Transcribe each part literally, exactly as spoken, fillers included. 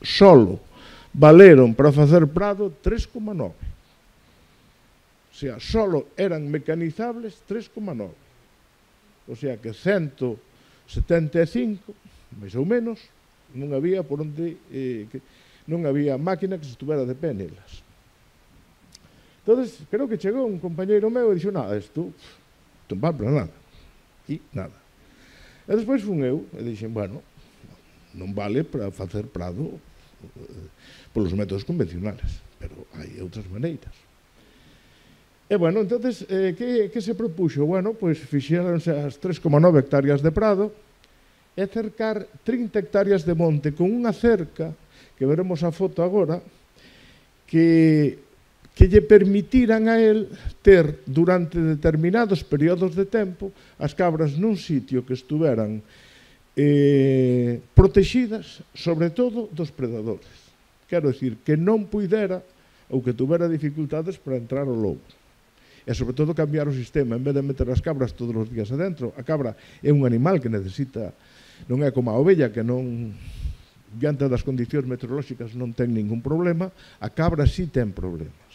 solo valeron para facer prado tres coma nove. O sea, solo eran mecanizables tres coma nove. O sea que ciento setenta e cinco, máis ou menos, non había por onde, eh, que, non había máquina que se estuvera de pé nelas. Entón, creo que chegou un compañeiro meu e dixo, nada, isto non vale para nada. E nada. E despois fun eu e dixen, bueno, non vale para facer prado eh, polos métodos convencionales, pero hai outras maneiras. E, bueno, entonces, eh, que, que se propuxo? Bueno, pois fixéronse as tres coma nove hectáreas de prado e cercar trinta hectáreas de monte con unha cerca, que veremos a foto agora, que, que lle permitiran a él ter, durante determinados períodos de tempo, as cabras nun sitio que estuveran eh, protexidas, sobre todo, dos predadores. Quero dicir, que non puidera ou que tuvera dificultades para entrar o lobo. E, sobre todo, cambiar o sistema. En vez de meter as cabras todos os días adentro, a cabra é un animal que necesita, non é como a ovella, que non, diante das condicións meteorolóxicas, non ten ningún problema. A cabra sí ten problemas.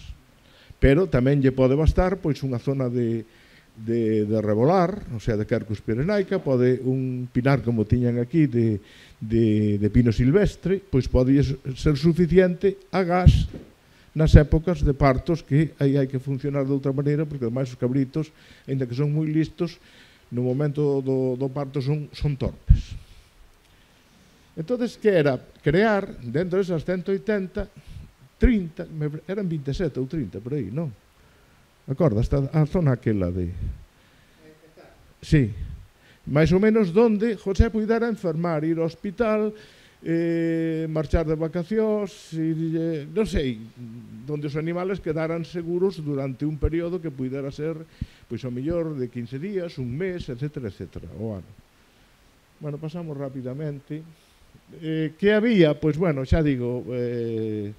Pero tamén lle pode bastar pois unha zona de, de, de rebolar, o sea, de Quercus pirenaica, pode un pinar como tiñan aquí de, de, de pino silvestre, pois pode ser suficiente a gas nas épocas de partos, que aí hai que funcionar de outra maneira, porque ademais os cabritos, ainda que son moi listos, no momento do, do parto son, son torpes. Entón, que era? Crear, dentro desas ciento oitenta, trinta, eran vinte e sete ou trinta, por aí, non? Acorda, hasta a zona aquela de... Sí. Mais ou menos donde José puidera enfermar, ir ao hospital, eh, marchar de vacacións, ir, eh, non sei, donde os animales quedaran seguros durante un período que puidera ser, pois, ao mellor de quince días, un mes, etcétera, etcétera, o ano. Bueno, pasamos rapidamente. Eh, que había? Pois, bueno, xa digo, eh,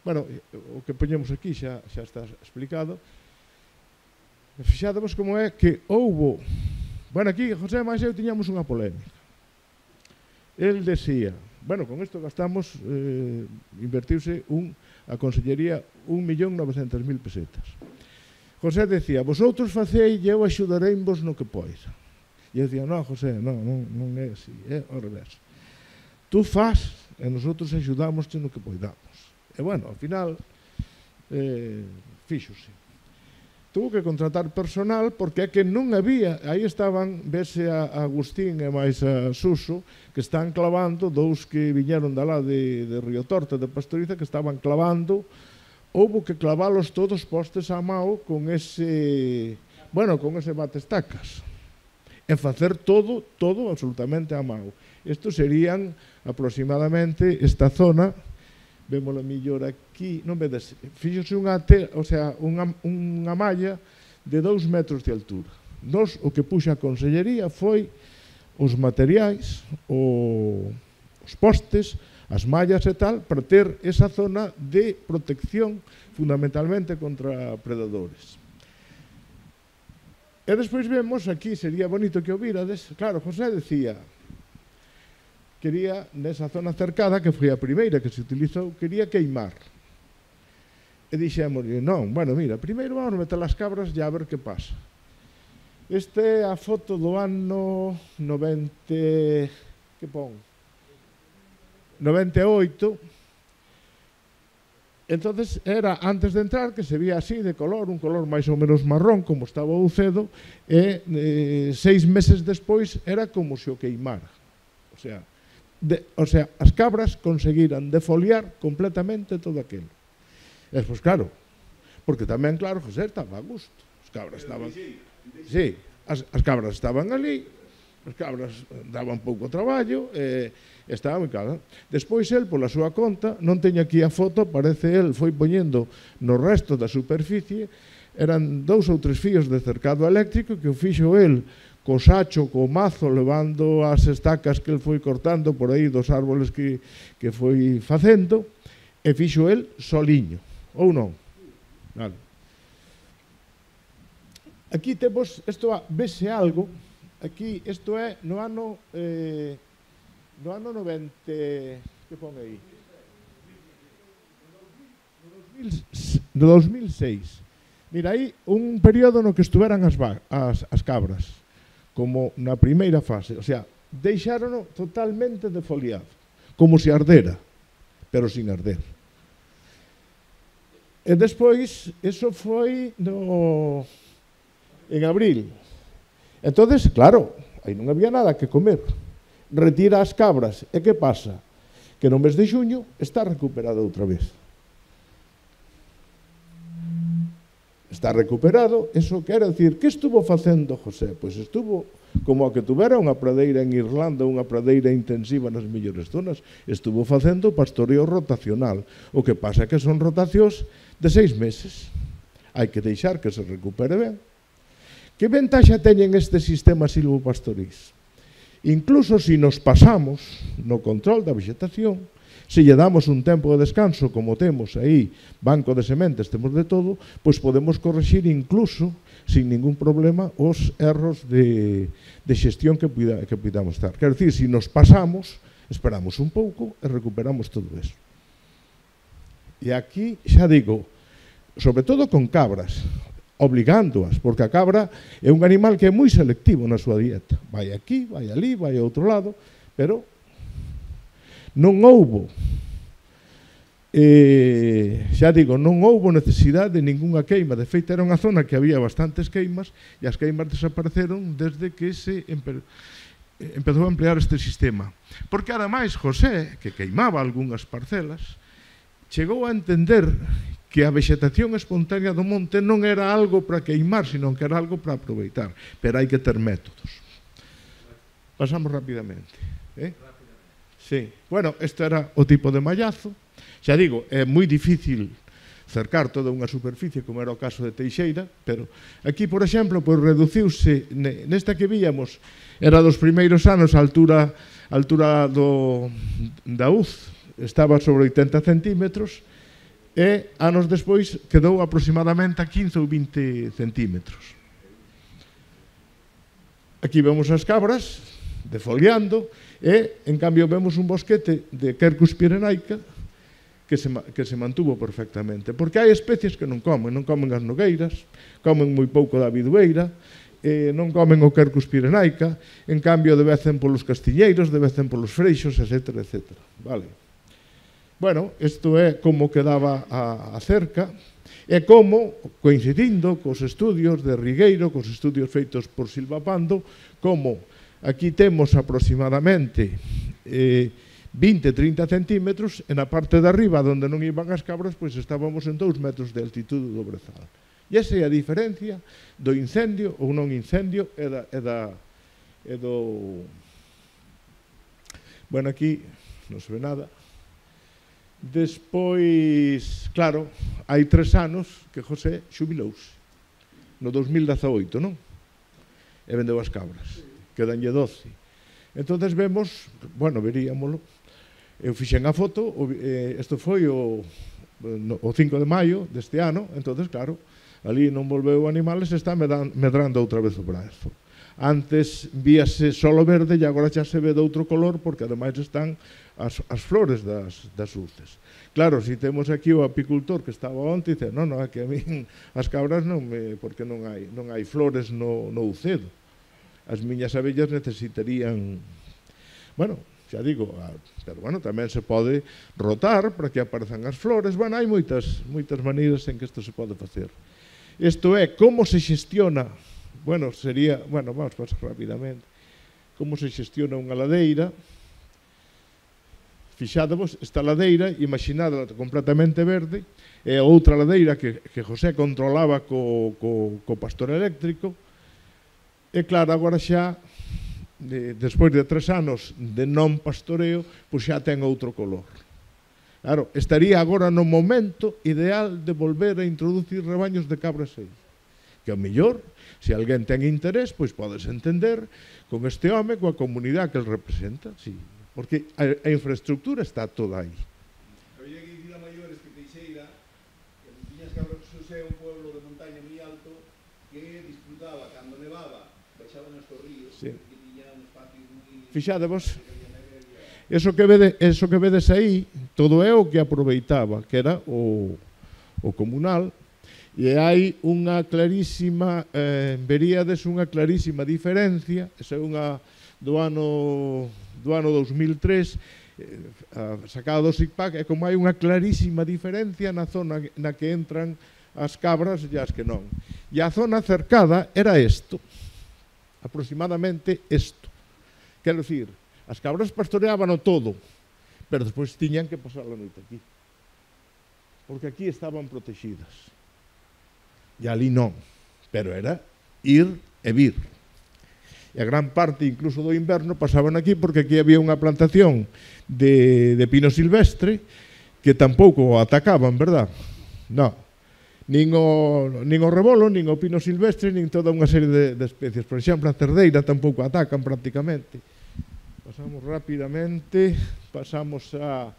bueno, o que poñemos aquí xa, xa está explicado. Fixádemos como é que houbo, bueno, aquí José máis eu tiñamos unha polémica. El decía, bueno, con isto gastamos, eh, invertiuse un, a Consellería un millón novecentos mil pesetas. José decía, vosotros facei e eu axudareivos no que poida. E eu decía, non, José, non, non, non é así, é ao revés. Tú faz e nosotros axudamos no que poidamos. E, bueno, ao final, eh, fíxose. Tuvo que contratar personal porque é que non había, aí estaban, vese a Agustín e máis a Suso, que están clavando, dous que viñeron da lá de, de Río Torta, de Pastoriza, que estaban clavando, houbo que clavalos todos postes a mao con ese, bueno, con ese batestacas, e facer todo, todo absolutamente a mao. Estos serían aproximadamente esta zona, vémoslo mellor aquí, non vedes, fíxose unha, o sea, unha, unha malla de dous metros de altura. Nos, o que puxa a Consellería foi os materiais, o, os postes, as mallas e tal, para ter esa zona de protección fundamentalmente contra predadores. E despois vemos, aquí sería bonito que o virades, claro, José decía, quería, nesa zona cercada, que foi a primeira que se utilizou, quería queimar. E dixemos, non, bueno, mira, primeiro vamos meter as cabras e a ver que pasa. Esta é a foto do ano noventa, que pon? noventa e oito. Entonces era antes de entrar, que se vía así de color, un color máis ou menos marrón, como estaba o cedo, e eh, seis meses despois era como se o queimara. O sea, De, o sea, as cabras conseguiran defoliar completamente todo aquilo. E, pois, claro, porque tamén, claro, José estaba a gusto. As cabras estaban... Sí, as, as cabras estaban ali, as cabras daban pouco traballo, e estaba moi claro. Despois, el, pola súa conta, non teño aquí a foto, parece el, foi poñendo no resto da superficie, eran dous ou tres fíos de cercado eléctrico que o fixo el co sacho, co mazo, levando as estacas que el foi cortando por aí dos árboles que, que foi facendo, e fixo el soliño, ou non? Vale. Aquí temos, isto vese algo, aquí, isto é no ano, eh, no ano noventa, que pon aí? dos mil seis. Mira, aí un período no que estuveran as, as, as cabras, como na primeira fase, o sea, deixárono totalmente defoliado, como se ardera, pero sin arder. E despois, eso foi no, en abril. Entonces, claro, aí non había nada que comer. Retira as cabras, e que pasa? Que no mes de xuño está recuperado outra vez. Está recuperado, eso quere dicir, que estuvo facendo José? Pois estuvo como a que tuvera unha pradeira en Irlanda, unha pradeira intensiva nas mellores zonas, estuvo facendo pastoreo rotacional. O que pasa é que son rotacións de seis meses. Hai que deixar que se recupere ben. Que ventaxa teñen este sistema silvopastorís? Incluso se nos pasamos no control da vegetación, se lle damos un tempo de descanso, como temos aí, banco de sementes, temos de todo, pois podemos corrixir incluso, sin ningún problema, os erros de, de xestión que, puida, que podamos estar. Quero dicir, se nos pasamos, esperamos un pouco e recuperamos todo eso. E aquí, xa digo, sobre todo con cabras, obligándoas, porque a cabra é un animal que é moi selectivo na súa dieta. Vai aquí, vai ali, vai a outro lado, pero non houbo, eh, xa digo, non houbo necesidade de ningunha queima. De feito, era unha zona que había bastantes queimas e as queimas desapareceron desde que se empe empezou a emplear este sistema. Porque, ademais, José, que queimaba algunhas parcelas, chegou a entender que a vegetación espontánea do monte non era algo para queimar, sino que era algo para aproveitar. Pero hai que ter métodos. Pasamos rapidamente. Eh? Sí. Bueno, este era o tipo de mallazo. Xa digo, é moi difícil cercar toda unha superficie, como era o caso de Teixeira, pero aquí, por exemplo, pois reduciuse, nesta que víamos, era dos primeiros anos, a altura, a altura do, da U Z, estaba sobre oitenta centímetros, e anos despois quedou aproximadamente a quince ou vinte centímetros. Aquí vemos as cabras defoliando, e, en cambio, vemos un bosquete de Quercus pirenaica que se, que se mantuvo perfectamente. Porque hai especies que non comen, non comen as nogueiras, comen moi pouco da bidueira, eh, non comen o Quercus pirenaica, en cambio, devecen polos castiñeiros, devecen polos freixos, etcétera, etcétera. Vale. Bueno, isto é como quedaba a, a cerca, e como, coincidindo cos estudios de Rigueiro, cos estudios feitos por Silva Pando, como aquí temos aproximadamente eh, vinte a trinta centímetros, e na parte de arriba, onde non iban as cabras, pois estábamos en dous metros de altitude do brezal. E esa é a diferencia do incendio ou non incendio e, da, e, da, e do... Bueno, aquí non se ve nada. Despois, claro, hai tres anos que José xubilouse, no dos mil dezaoito, non? E vendeu as cabras, quedanlle doce. Entonces vemos, bueno, veríamolo, eu fixen a foto, isto foi o, o cinco de maio deste ano, entonces, claro, ali non volveu animales, está medrando outra vez o brazo. Antes víase solo verde e agora xa se ve de outro color, porque ademais están as, as flores das, das uces. Claro, se temos aquí o apicultor que estaba onte, dice, non, non, é que a min as cabras non me, porque non hai, non hai flores no, no ucedo. As miñas abellas necesitarían, bueno, xa digo, pero bueno, tamén se pode rotar para que aparezan as flores. Bueno, hai moitas, moitas maneiras en que isto se pode facer. Isto é, como se xestiona, bueno, sería, bueno, vamos a pasar rapidamente, como se xestiona unha ladeira. Fixádevos, esta ladeira, imaginada completamente verde, e outra ladeira que, que José controlaba co, co, co pastor eléctrico. E claro, agora xa, de, despois de tres anos de non pastoreo, pois xa ten outro color. Claro, estaría agora no momento ideal de volver a introducir rebaños de cabras aí. Que ao mellor, se alguén ten interés, pois podes entender con este home, coa comunidade que el representa, sí. Porque a, a infraestructura está toda aí. Había que dicir a maiores que Teixeira, que tiñas cabras, é un pueblo de montaña moi alto, que disfrutaba, cando nevaba, baixaban estos ríos, sí. Que tiña un espacio moi... Fixádevos, eso que, vede, eso que vedes aí, todo é o que aproveitaba, que era o, o comunal, e hai unha clarísima, eh, veríades unha clarísima diferencia, esa é unha do ano, do ano dos mil tres, eh, sacada do SICPAC, é como hai unha clarísima diferencia na zona na que entran as cabras e as que non. E a zona cercada era isto, aproximadamente isto. Quero dicir, as cabras pastoreaban o todo, pero despois tiñan que pasar a noite aquí. Porque aquí estaban protegidas. E ali non, pero era ir e vir. E a gran parte, incluso do inverno, pasaban aquí porque aquí había unha plantación de, de pino silvestre que tampouco o atacaban, verdad? Non. Nin o, nin o rebolo, nin o pino silvestre, nin toda unha serie de, de especies. Por exemplo, a cerdeira tampouco atacan prácticamente. Pasamos rapidamente, pasamos a...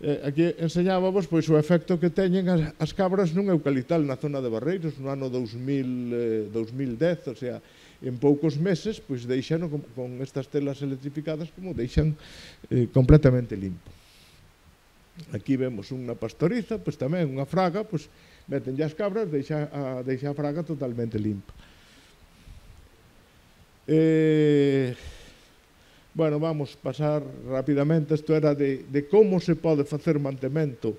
Eh, aquí enseñábamos pois, o efecto que teñen as, as cabras nun eucaliptal na zona de Barreiros no ano dos mil dez, o sea, en poucos meses pois deixaron con, con estas telas electrificadas como deixan eh, completamente limpo. Aquí vemos unha pastoriza, pois tamén unha fraga, pois meten as cabras, deixa a, deixa a fraga totalmente limpa. Eh... Bueno, vamos pasar rapidamente, isto era de, de como se pode facer mantemento,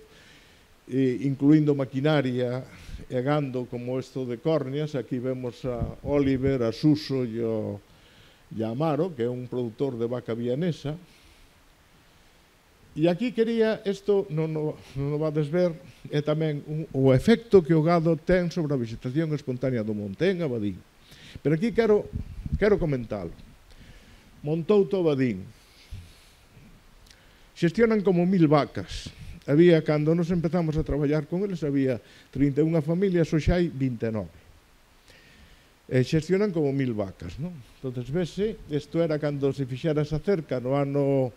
eh, incluindo maquinaria e gando como isto de córneas. Aquí vemos a Oliver, a Suso e, o, e a Amaro, que é un produtor de vaca vienesa. E aquí quería, isto non o, non o vades ver, é tamén un, o efecto que o gado ten sobre a vegetación espontánea do monte en Abadín. Pero aquí quero, quero comentalo. Montou Tobadín. Xestionan como mil vacas. Había, cando nos empezamos a traballar con eles, había trinta e unha familias, hoxe hai vinte e nove. E xestionan como mil vacas, non? Entón, vese, isto era cando se fixera esa cerca no ano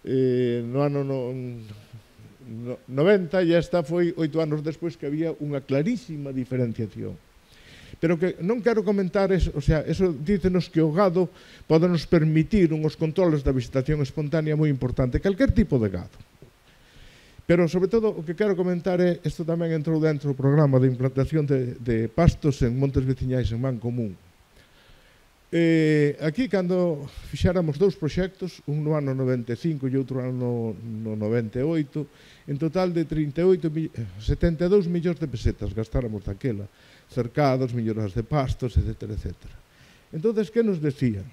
eh, no ano no, no, noventa, e esta foi oito anos despois que había unha clarísima diferenciación. Pero que non quero comentar, eso, o sea, eso dícenos que o gado pode nos permitir uns controles da vegetación espontánea moi importante, calquer tipo de gado. Pero, sobre todo, o que quero comentar é, isto tamén entrou dentro do programa de implantación de, de pastos en montes veciñais en Mancomún. Eh, aquí, cando fixáramos dous proxectos, un no ano noventa e cinco e outro ano no noventa e oito, en total de trinta e oito, setenta e dous millóns de pesetas gastáramos daquela, cercados, melloras de pastos, etcétera, etcétera. Entón, que nos decían?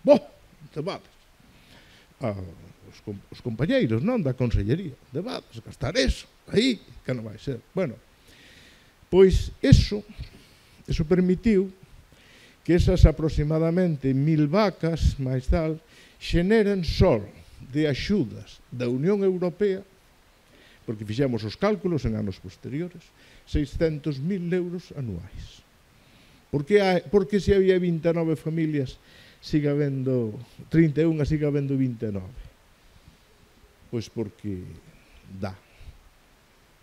Boh, debades. Ah, os, os compañeiros, non, da Consellería, debades, gastar eso, aí, que non vai ser. Bueno, pois, eso, eso permitiu que esas aproximadamente mil vacas, máis tal, xeneren só de axudas da Unión Europea, porque fixemos os cálculos en anos posteriores, seiscentos mil euros anuais. Por que, hai, porque se había vinte e nove familias, siga habendo trinta e unha, siga habendo vinte e nove? Pois porque dá.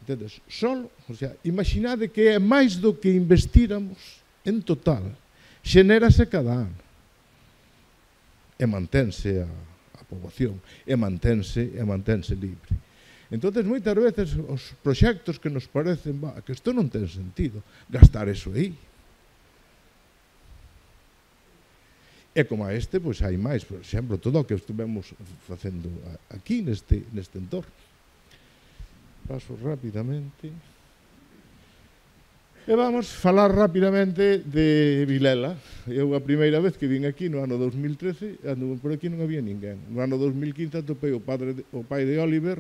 Entendes? Solo, o sea, imaginade que é máis do que investiramos en total. Xenérase cada ano. E mantense a, a poboación, e mantense, e mantense libre. Entón, moitas veces, os proxectos que nos parecen, bah, que isto non ten sentido, gastar eso aí. E como a este, pois hai máis, por exemplo, todo o que estivemos facendo aquí, neste, neste entorno. Paso rapidamente. E vamos falar rapidamente de Vilela. Eu a primeira vez que vin aquí no ano dos mil trece, por aquí non había ninguén. No ano dos mil quince atopei o, padre, o pai de Oliver,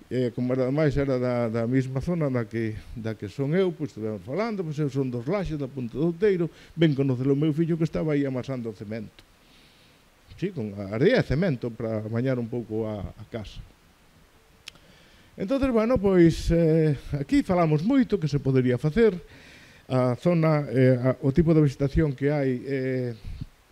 e como ademais era da, da mesma zona da que, da que son eu, pois estivemos falando, pois eu son dos Laxes, da Punta do Outeiro, ben conocer o meu fillo que estaba aí amasando o cemento. Sí, con area e cemento para bañar un pouco a, a casa. Entón, bueno, pois eh, aquí falamos moito que se podería facer, a zona, eh, a, o tipo de vegetación que hai eh,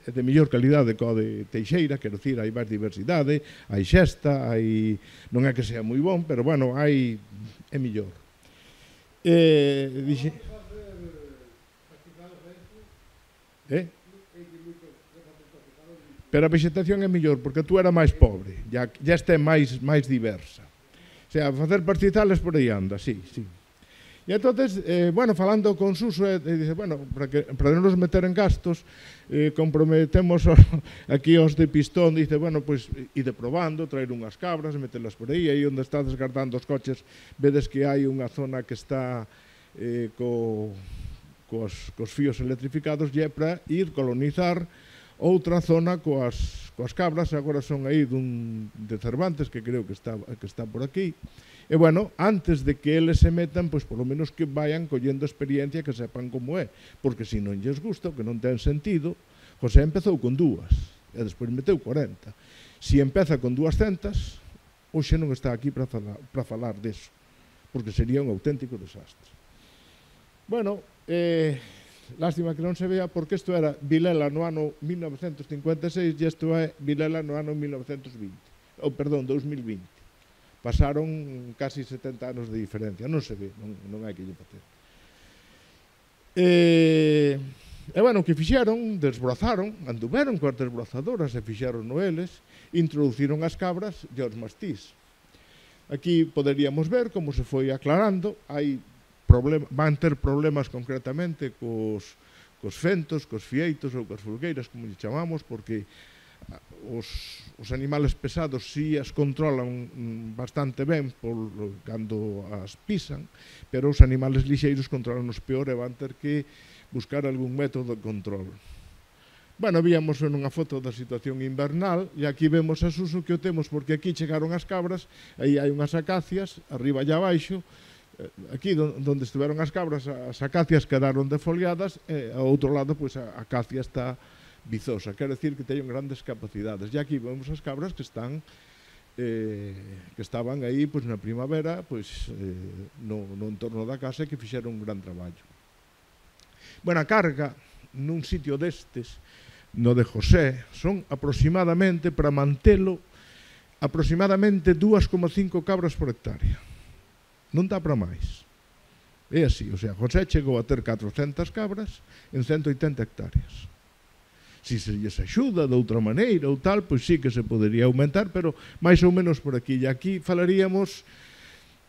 de mellor calidade que o de Teixeira, quero dicir, hai máis diversidade, hai xesta, hai, non é que sea moi bon, pero, bueno, hai, é mellor. Eh, dixe... Eh? Pero a vegetación é mellor, porque tú era máis pobre, ya, ya está máis, máis diversa. O sea, facer pastizales por aí anda, sí, sí. E entonces, eh, bueno, falando con Suso, eh, dice, bueno, para, que, para non nos meter en gastos, eh, comprometemos o, aquí os de Pistón, dice, bueno, pois, pues, ide probando, traer unhas cabras, metelas por aí, aí onde está descartando os coches, vedes que hai unha zona que está eh, co, cos, cos fíos electrificados, e é para ir colonizar outra zona coas, coas cabras, agora son aí dun, de Cervantes, que creo que está, que está por aquí. E, bueno, antes de que eles se metan, pois, polo menos que vayan collendo experiencia, que sepan como é. Porque se non lles gusta, que non ten sentido, José empezou con dúas, e despois meteu cuarenta. Se empeza con duascentas, hoxe non está aquí para falar, para falar deso, porque sería un auténtico desastre. Bueno, eh, lástima que non se vea, porque isto era Vilela no ano mil novecentos cincuenta e seis e isto é Vilela no ano mil novecentos vinte. Ou, perdón, dos mil vinte. Pasaron casi setenta anos de diferencia, non se ve, non, non hai que lle facer. E, e, bueno, o que fixeron, desbrozaron, anduveron coas desbrozadoras e fixeron no eles, introduciron as cabras e os mastís. Aquí poderíamos ver como se foi aclarando, hai problema, van ter problemas concretamente cos, cos fentos, cos fieitos ou cos fulgueiras, como lle chamamos, porque Os, os animales pesados si as controlan bastante ben por, cando as pisan, pero os animales lixeiros controlan os peor e van ter que buscar algún método de control. Bueno, víamos nunha foto da situación invernal e aquí vemos a Suso que o temos porque aquí chegaron as cabras, aí hai unhas acacias, arriba e abaixo, aquí onde estiveron as cabras, as acacias quedaron defoliadas e ao outro lado pois, a acacia está vizosa, quer decir que teñen grandes capacidades. E aquí vemos as cabras que están eh, que estaban aí pois, na primavera pois, eh, no, no entorno da casa e que fixeron un gran traballo. Bueno, a carga nun sitio destes, no de José, son aproximadamente, para mantelo, aproximadamente dúas coma cinco cabras por hectárea. Non dá para máis. É así, o sea, José chegou a ter catrocentas cabras en ciento oitenta hectáreas. Se se lles axuda de outra maneira ou tal, pois sí que se podería aumentar, pero máis ou menos por aquí. E aquí falaríamos,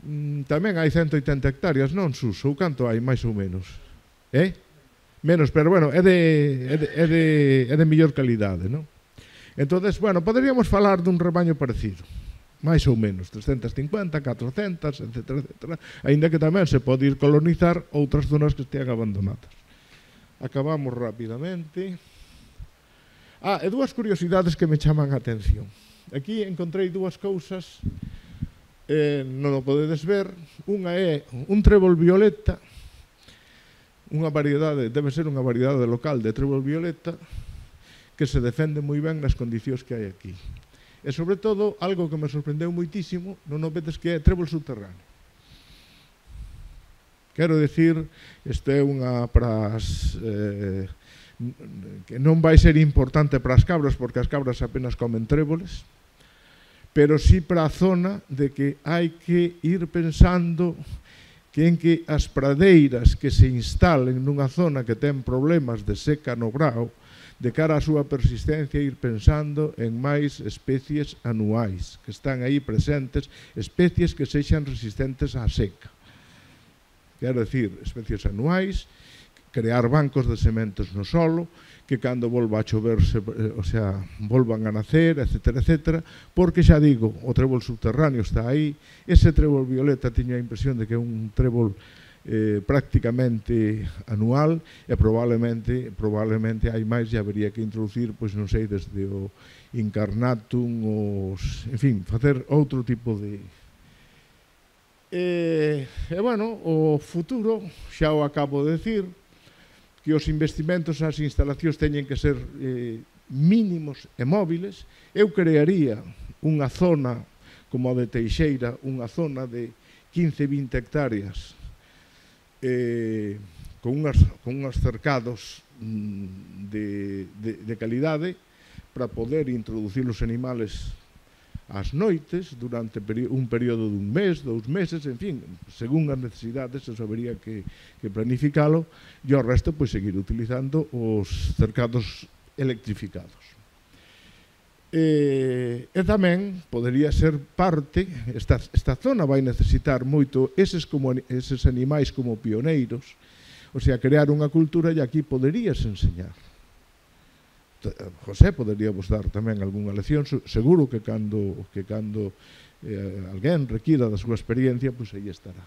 mmm, tamén hai ciento oitenta hectáreas, non, Suso? Ou canto hai, máis ou menos? Eh? Menos, pero bueno, é de, é de, é de, é de mellor calidade, non? Entonces, bueno, poderíamos falar dun rebaño parecido, máis ou menos, trescentas cincuenta, catrocentas, etcétera, etcétera, aínda que tamén se pode ir colonizar outras zonas que estean abandonadas. Acabamos rapidamente. Ah, e dúas curiosidades que me chaman a atención. Aquí encontrei dúas cousas, eh, non o podedes ver. Unha é un trébol violeta, unha variedade, debe ser unha variedade local de trébol violeta, que se defende moi ben nas condicións que hai aquí. E, sobre todo, algo que me sorprendeu moitísimo, non o vedes que é trébol subterráneo. Quero dicir, isto é unha para as... Eh, que non vai ser importante para as cabras, porque as cabras apenas comen tréboles, pero sí para a zona de que hai que ir pensando que en que as pradeiras que se instalen nunha zona que ten problemas de seca no grao, de cara á súa persistencia, ir pensando en máis especies anuais que están aí presentes, especies que sexan resistentes á seca. Quero dicir, especies anuais, crear bancos de sementes no solo, que cando volva a chover, se, o sea, volvan a nacer, etcétera, etcétera, porque xa digo, o trébol subterráneo está aí, ese trébol violeta tiña a impresión de que é un trébol eh, prácticamente anual e probablemente, probablemente hai máis e habería que introducir, pois non sei, desde o incarnatum, os, en fin, facer outro tipo de... E, e bueno, o futuro, xa o acabo de decir, que os investimentos ás instalacións teñen que ser eh, mínimos e móviles. Eu crearía unha zona como a de Teixeira, unha zona de quince a vinte hectáreas eh, con, unhas, con unhas cercados mm, de, de, de calidade para poder introducir os animales ás noites durante un período dun mes, dous meses, en fin, según as necesidades, eso habería que, que planificalo, e ao resto, pois, seguir utilizando os cercados electrificados. E, e tamén podería ser parte, esta, esta zona vai necesitar moito eses, como, eses animais como pioneiros, o sea, crear unha cultura e aquí poderías enseñar. José podería vos dar tamén algunha lección, seguro que cando, que cando eh, alguén requira da súa experiencia, pois aí estará.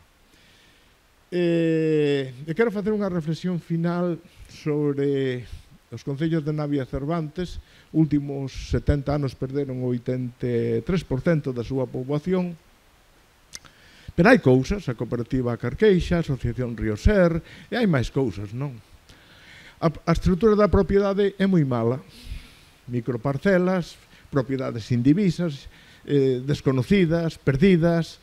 E, e quero facer unha reflexión final sobre os concellos de Navia e Cervantes. Últimos setenta anos perderon o oitenta e tres por cento da súa poboación, pero hai cousas, a cooperativa Carqueixa, a asociación Rioser, e hai máis cousas, non? A, a estrutura da propiedade é moi mala, microparcelas, propiedades indivisas, eh, desconocidas, perdidas.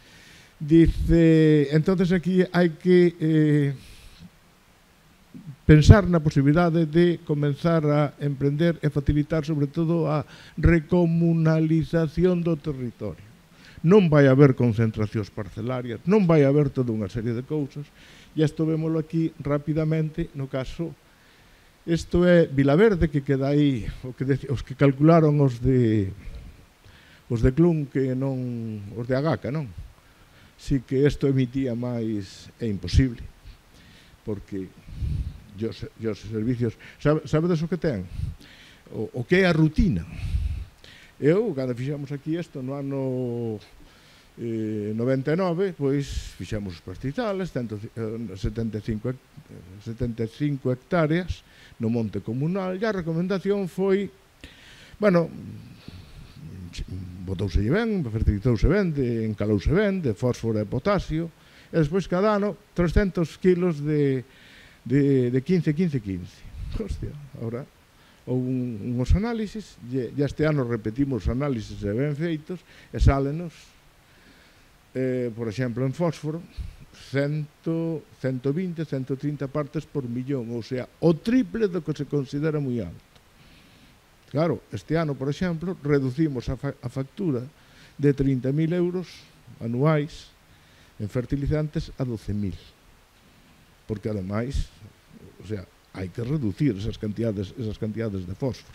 Dice, entonces aquí hai que eh, pensar na posibilidade de comenzar a emprender e facilitar sobre todo a recomunalización do territorio. Non vai haber concentracións parcelarias, non vai haber toda unha serie de cousas, e isto vémolo aquí rapidamente no caso. Isto é Vilaverde, que queda aí, o que de, os que calcularon os de os de Clun, que non, os de Agaca, non? Si que isto emitía máis, é imposible, porque e os, e os servicios, sabe, sabedes o que ten? O, o que é a rutina. Eu, cando fixamos aquí isto no ano eh, noventa e nove, pois fixamos os pastizales, setenta e cinco hectáreas no monte comunal, e a recomendación foi, bueno, botouse ben, fertilizouse ben, de, encalouse ben, de fósforo e potasio, e despois cada ano trescentos kilos de de, de quince, quince, quince. Hostia, ahora houve un, unhos análisis, e este ano repetimos os análisis e ben feitos, e sálenos, eh, por exemplo, en fósforo, cento, cento vinte, cento trinta partes por millón, ou sea, o triple do que se considera moi alto. Claro, este ano, por exemplo, reducimos a, fa a factura de trinta mil euros anuais en fertilizantes a doce mil. Porque, ademais, o sea, hai que reducir esas cantidades, esas cantidades de fósforo.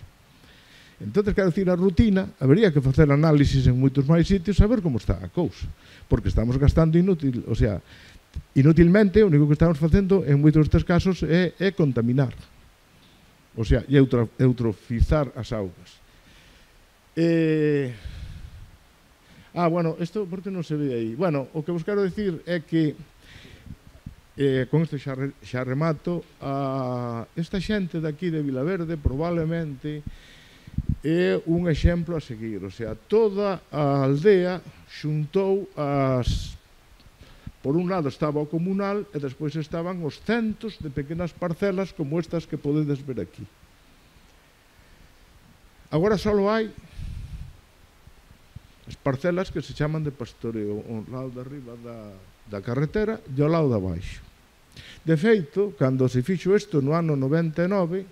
Entón, quero dicir, a rutina, habería que facer análisis en moitos máis sitios a ver como está a cousa. Porque estamos gastando inútil, o sea, inútilmente, o único que estamos facendo en moitos destes casos é, é contaminar. O sea, e eutrofizar as augas. Eh... Ah, bueno, isto, por que non se ve aí? Bueno, o que vos quero dicir é que Eh, con isto xa, re, xa remato, a esta xente daqui de Vilaverde probablemente é un exemplo a seguir, o sea, toda a aldea xuntou as, por un lado estaba o comunal e despois estaban os centos de pequenas parcelas como estas que podedes ver aquí. Agora só hai as parcelas que se chaman de pastoreo, ao lado de arriba da da carretera e ao lado de abaixo. De feito, cando se fixo isto no ano noventa e nove,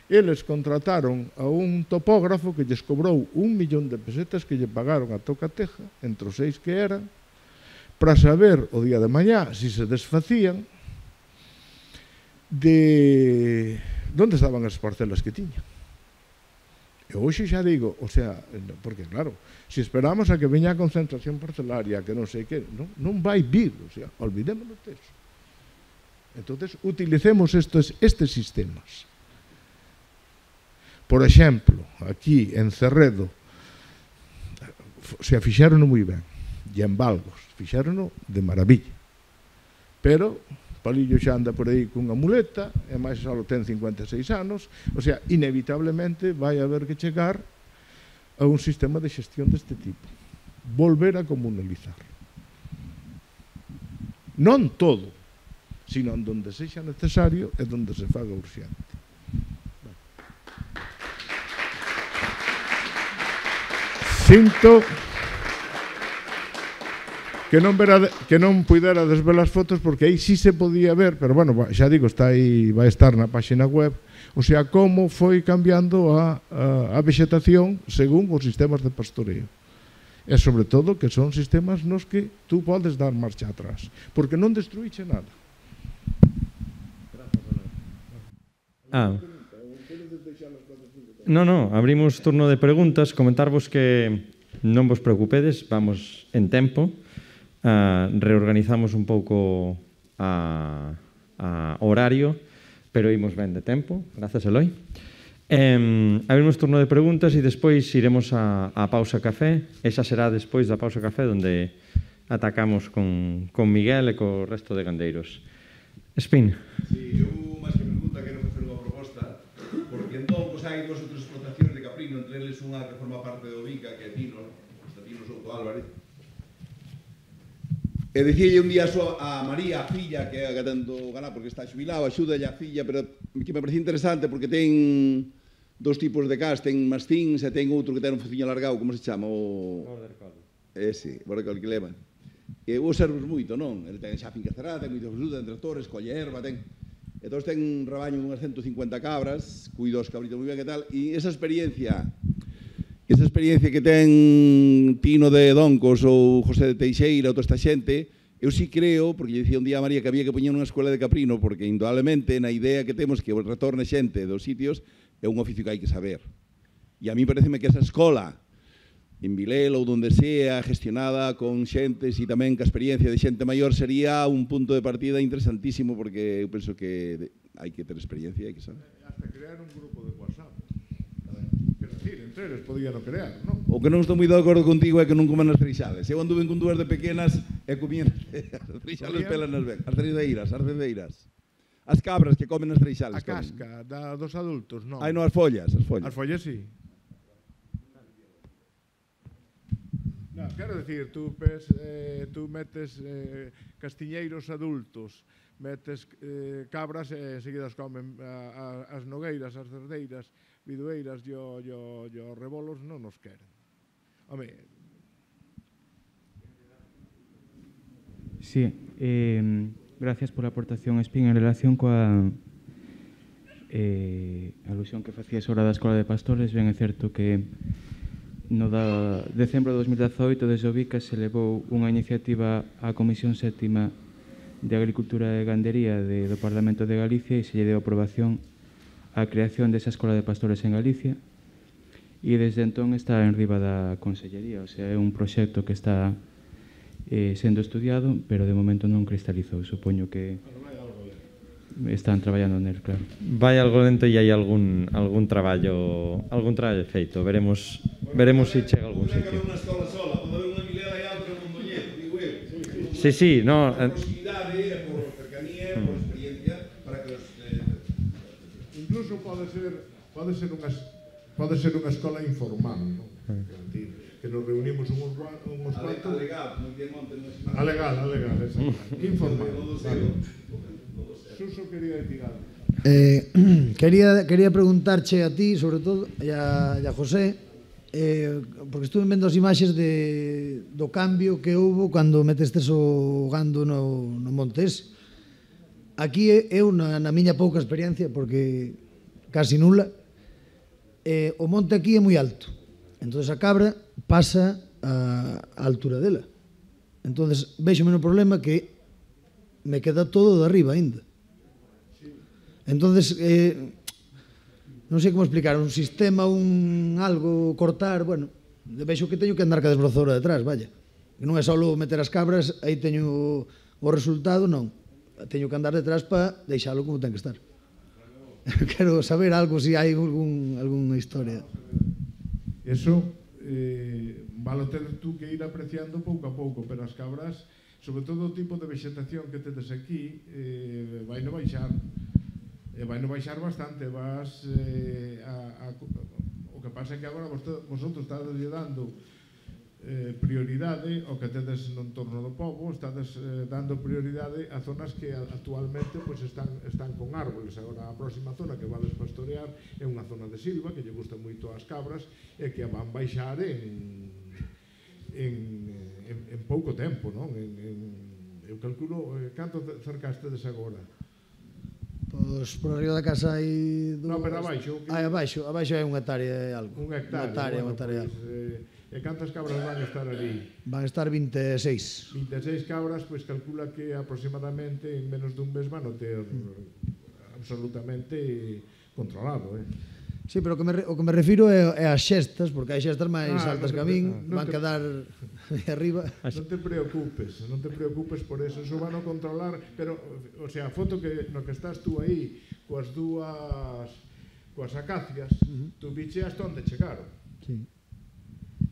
eles contrataron a un topógrafo que lles cobrou un millón de pesetas que lle pagaron a tocateja, entre os seis que eran, para saber o día de mañá se se desfacían de onde estaban as parcelas que tiñan. E hoxe xa digo, o sea, porque claro, se esperamos a que veña a concentración parcelaria, que non sei que, non, non vai vir, o sea, olvidémonos deso. Entonces, utilicemos estes, estes sistemas. Por exemplo, aquí en Cerredo, se fixeron moi ben, e en Valgos, fixeron de maravilla. Pero Palillo xa anda por aí cunha muleta, e máis só ten cincuenta e seis anos, o sea, inevitablemente vai haber que chegar a un sistema de xestión deste tipo. Volver a comunalizar. Non todo, sino onde sexa necesario e onde se faga urxente. Sinto que non, vera, que non puidera desver as fotos porque aí sí se podía ver, pero bueno, xa digo, está aí, vai estar na página web, o sea, como foi cambiando a, a, a vegetación según os sistemas de pastoreo. E sobre todo que son sistemas nos que tú podes dar marcha atrás, porque non destruíche nada. Ah. No, no, abrimos turno de preguntas. Comentarvos que non vos preocupedes, vamos en tempo. Uh, reorganizamos un pouco a, a horario, pero imos ben de tempo. Grazas, Eloi. Eh, abrimos turno de preguntas e despois iremos a, a pausa café. Esa será despois da pausa café, onde atacamos con, con Miguel e co resto de gandeiros. Espín. Sí, eu, máis que pregunta, quero facer unha proposta, porque entón, pois, hai dúas outras explotacións de caprino, entre eles unha que forma parte do Vica, que é Tino, está Tino Souto Álvarez. E dicíalle un día a María, a filla, que é a que tanto gana, porque está xubilado, axúdalle a filla, pero que me parece interesante, porque ten dos tipos de cas, ten mastins e ten outro que ten un fociño alargado, como se chama? O... Border Collie. Ese, Border Collie que leva. E o observos moito, non? Ele ten xa finca cerrada, ten moita fruta, ten tractores, colle erva, ten... Entón ten un rabaño de unhas ciento cincuenta cabras, cuido os cabritos moi ben e tal, e esa experiencia, esa experiencia que ten Tino de Doncos ou José de Teixeira ou toda esta xente, eu sí creo, porque lle dicía un día a María que había que poñer unha escola de caprino, porque indudablemente na idea que temos que retorne xente dos sitios, é un oficio que hai que saber. E a mí pareceme que esa escola, en Vilela ou donde sea, gestionada con xentes e tamén ca experiencia de xente maior, sería un punto de partida interesantísimo, porque eu penso que hai que ter experiencia, hai que saber. Hasta crear un grupo de WhatsApp. Quero dicir, entre eles podían crear, non? O que non estou moi de acordo contigo é que non comen as freixales. Eu anduve con dúas de pequenas e comían as freixales pelas nas ben. As cerdeiras, as cerdeiras. As cabras que comen as freixales. A casca da, dos adultos, non? Ai, non, as follas, as follas. As follas, sí. No, quero dicir, tú, pes, eh, tú metes eh, castiñeiros adultos, metes eh, cabras e seguidas comen a, a, as nogueiras, as cerdeiras, bidueiras e os rebolos non nos queren. Home... Sí, eh... gracias pola aportación, Espín, en relación coa eh, alusión que facía sobre a Escola de Pastores. Ben é certo que no da decembro de dos mil dezaoito desde o Vica se levou unha iniciativa á Comisión Sétima de Agricultura e Gandería de, do Parlamento de Galicia e se lle deu aprobación á creación desa Escola de Pastores en Galicia e desde entón está en riba da Consellería, o sea, é un proxecto que está Eh, sendo estudiado, pero de momento non cristalizou. Supoño que están traballando nel, claro. Vai algo lento e hai algún algún traballo algún traballo feito. Veremos veremos se chega a algún sitio. Unha escola sola, pode haber unha Vilela e outra en Mondoñedo, digo eu. Sí, sí, no. Por proximidade, por cercanía, por experiencia, para que os... Incluso pode ser pode ser unha pode ser unha escola informal, non? Que nos reunimos uns cuantos... Alegal, non tiene monte, non é... Alegal, alegal, informal. Suso quería decir algo. Eh, quería, quería preguntarche a ti, sobre todo, e a, e a José, eh, porque estuve vendo as imaxes de, do cambio que houve cando metestes o gando no, no Montes. Aquí eu, na, na miña pouca experiencia, porque casi nula, eh, o monte aquí é moi alto. Entón a cabra pasa a, a altura dela. Entón vexo menos problema que me queda todo de arriba ainda. Entón, eh, non sei como explicar, un sistema, un algo, cortar, bueno, vexo que teño que andar ca desbrozadora detrás, vaya. Que non é só meter as cabras, aí teño o resultado, non. Teño que andar detrás para deixalo como ten que estar. Quero saber algo, se hai algún, alguna historia. Eso eh, valo ter tú que ir apreciando pouco a pouco, pero as cabras, sobre todo o tipo de vegetación que tedes aquí, eh, vai no baixar. E vai no baixar bastante, vas eh, a, a, o que pasa é que agora vosotros estades dando eh, prioridade ao que tedes no entorno do pobo, estades eh, dando prioridade a zonas que actualmente pues, están, están con árboles. Agora a próxima zona que vades pastorear é unha zona de silva que lle gusta moito as cabras e que van baixar en, en, en, en pouco tempo, non? En, en, eu calculo, eh, canto cercastedes agora? Pois por arriba da casa hai... No, pero abaixo... Hai abaixo, abaixo hai unha hectárea e algo. Unha hectárea, unha hectárea, bueno, unha hectárea pues, eh, e cantas cabras van a estar ali? Van a estar vinte e seis. vinte e seis cabras, pois pues, calcula que aproximadamente en menos dun mes van a ter mm. absolutamente controlado, eh? Sí, pero o que me, o que me refiro é, é as xestas, porque hai xestas máis Ah, altas non que a te- min, non van te- quedar aí arriba. Non te preocupes, non te preocupes por eso, eso van a controlar, pero, o sea, a foto que no que estás tú aí, coas dúas, coas acacias, tú biche hasta onde chegaron. Sí.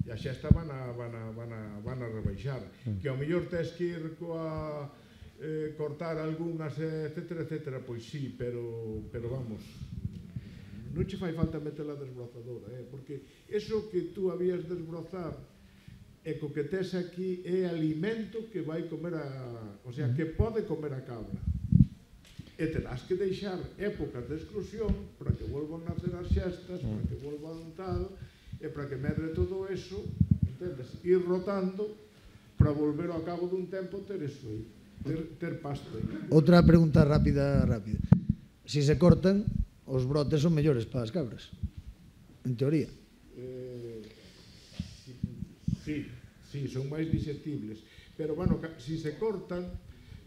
E a xesta van a, van a, van a, van a rebaixar. Que ao mellor tes que ir coa, eh, cortar algunhas, etcétera, etcétera, pois sí, pero, pero vamos, non che fai falta meter a desbrozadora, eh? Porque eso que tú habías desbrozar e co que tes aquí é alimento que vai comer a... O sea, que pode comer a cabra. E terás que deixar épocas de exclusión para que volvan a nacer as xestas, para que volvan tal, e para que medre todo eso, entendes? Ir rotando para volver ao cabo dun tempo ter eso aí, ter, ter pasto aí. Outra pregunta rápida, rápida. Si se cortan, os brotes son mellores para as cabras, en teoría. Eh, sí, sí, son máis disectibles. Pero, bueno, si se cortan,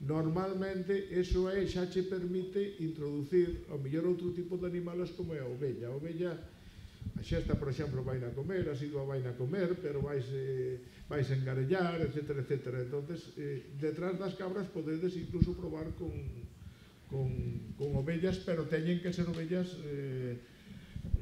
normalmente eso é, xa che permite introducir ao mellor outro tipo de animales como é a ovella. A ovella, a xesta, por exemplo, vai na comer, a sidua vai na comer, pero vais, eh, vais engarellar, etcétera, etcétera. Entonces, eh, detrás das cabras podedes incluso probar con, con, con ovellas, pero teñen que ser ovellas eh,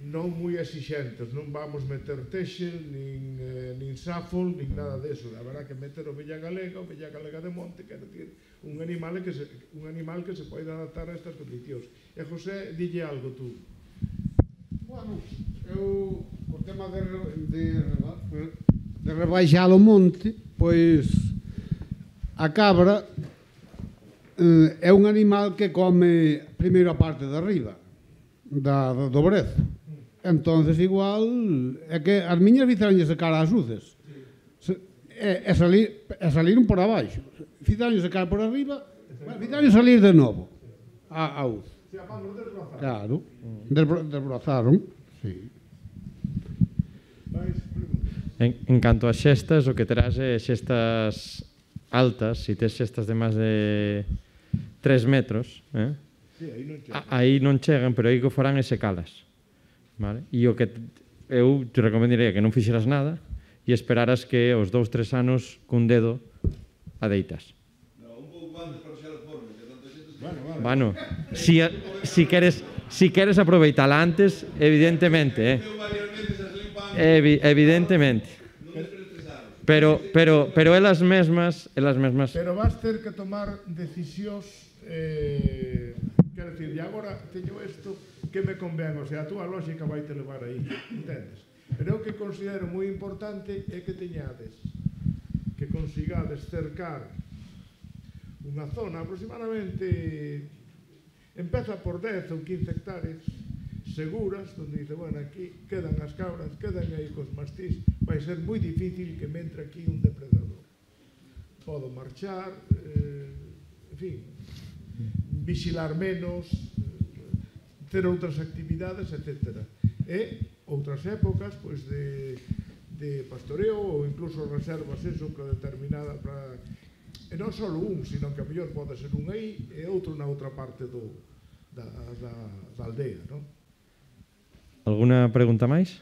non moi exixentes, non vamos meter texel, nin, eh, nin sáfol, nin nada deso. Haberá que meter ovella galega, ovella galega de monte, quer decir, un animal que se, un animal que se pode adaptar a estas condicións. E José, dille algo tú. Bueno, eu, o tema de, de, de rebaixar o monte, pois a cabra eh, é un animal que come primeiro a parte de arriba da, do brezo. Entonces igual é que as miñas fixeronlle secar as uces e, e, salir, e saliron por abaixo, fixeronlle secar por arriba, fixeronlle salir de novo a, a uz. Claro, desbro, desbrozaron, sí. En, en canto a xestas, o que terás é xestas altas, se tes xestas de máis de tres metros, eh? Sí, aí non chegan. A, aí non chegan, pero aí que farán é secalas. Vale? E o que eu te recomendaría que non fixeras nada e esperaras que os dous, tres anos cun dedo a deitas. No, un pouco antes para xa forme, que tanto xente se... Bueno, vale. Bueno, si, si queres si queres aproveitala antes, evidentemente, eh? Eu varias veces as limpan, Evi, evidentemente. non me estresaron. Pero pero pero elas mesmas, elas mesmas Pero vas ter que tomar decisións, eh, quero dicir, e agora teño isto que me convén, o sea, a túa lógica vai te levar aí, entendes? Pero o que considero moi importante é que teñades, que consigades cercar unha zona aproximadamente, empeza por dez ou quince hectáreas seguras, onde dice, bueno, aquí quedan as cabras, quedan aí cos mastís, vai ser moi difícil que me entre aquí un depredador. Podo marchar, eh, en fin, vigilar menos, ter outras actividades, etcétera. E outras épocas, pois, de, de pastoreo ou incluso reservas eso para determinada, para... e non só un, sino que a mellor pode ser un aí e outro na outra parte do, da, da, da aldea, non? Alguna pregunta máis?